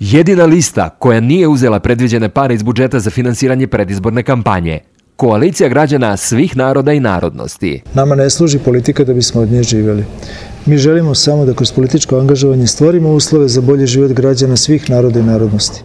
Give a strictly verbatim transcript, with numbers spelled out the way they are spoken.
Jedina lista koja nije uzela predviđene pare iz budžeta za finansiranje predizborne kampanje. Koalicija građana svih naroda i narodnosti. Nama ne služi politika da bismo od nje živjeli. Mi želimo samo da kroz političko angažovanje stvorimo uslove za bolji život građana svih naroda i narodnosti.